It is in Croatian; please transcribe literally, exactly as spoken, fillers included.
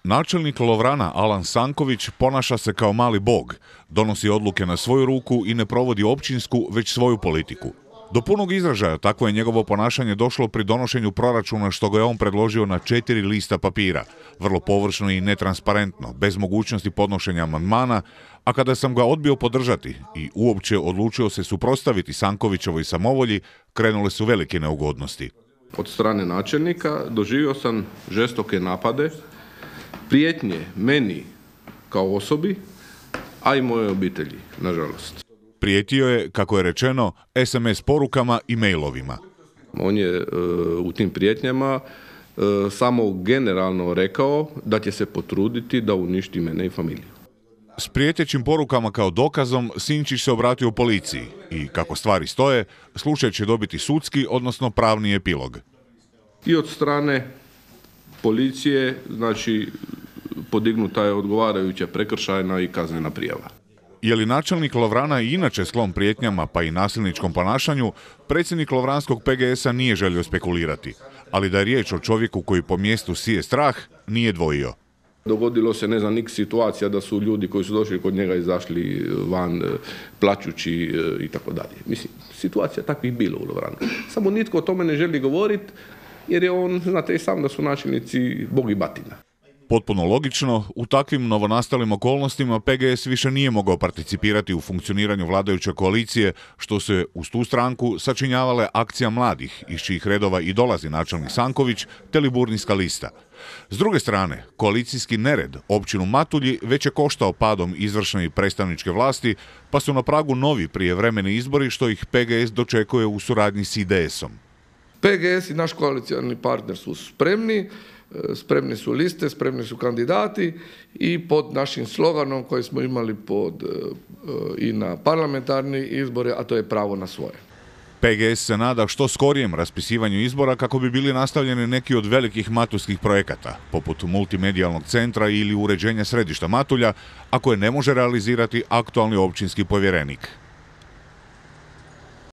Načelnik Lovrana Alan Sanković ponaša se kao mali bog, donosi odluke na svoju ruku i ne provodi općinsku, već svoju politiku. Do punog izražaja takvo je njegovo ponašanje došlo pri donošenju proračuna što ga je on predložio na četiri lista papira, vrlo površno i netransparentno, bez mogućnosti podnošenja amandmana, a kada sam ga odbio podržati i uopće odlučio se suprotstaviti Sankovićevoj samovolji, krenule su velike neugodnosti. Od strane načelnika doživio sam žestoke napade, prijetnje meni kao osobi, a i moje obitelji, nažalost. Prijetio je, kako je rečeno, es em es porukama i mailovima. On je e, u tim prijetnjama e, samo generalno rekao da će se potruditi da uništi mene i familiju. S prijetećim porukama kao dokazom Sinčić se obratio policiji i, kako stvari stoje, slučaj će dobiti sudski, odnosno pravni epilog. I od strane policije, znači, podignuta je odgovarajuća prekršajna i kaznena prijava. Je li načelnik Lovrana i inače sklon prijetnjama pa i nasilničkom ponašanju, predsjednik Lovranskog pe ge esa nije želio spekulirati, ali da je riječ o čovjeku koji po mjestu sije strah, nije dvojio. Dogodilo se, ne znam, nik situacija da su ljudi koji su došli kod njega izašli van plaćući i tako dalje. Mislim, situacija takvih bilo u Lovranu. Samo nitko o tome ne želi govoriti jer je on, znate i sam da su načelnici bog i batina. Potpuno logično, u takvim novonastalim okolnostima pe ge es više nije mogao participirati u funkcioniranju vladajuće koalicije, što se uz tu stranku sačinjavale akcija mladih, iz čijih redova i dolazi načelnik Sanković, te Liburnijska lista. S druge strane, koalicijski nered općinu Matulji već je koštao padom izvršne i predstavničke vlasti, pa su na pragu novi prijevremeni izbori, što ih pe ge es dočekuje u suradnji s i de esom. pe ge es i naš koalicijalni partner su spremni, spremni su liste, spremni su kandidati i pod našim sloganom koji smo imali pod, i na parlamentarni izbore, a to je pravo na svoje. pe ge es se nada što skorijem raspisivanju izbora kako bi bili nastavljeni neki od velikih matulskih projekata, poput multimedijalnog centra ili uređenja središta Matulja, a koje ne može realizirati aktualni općinski povjerenik.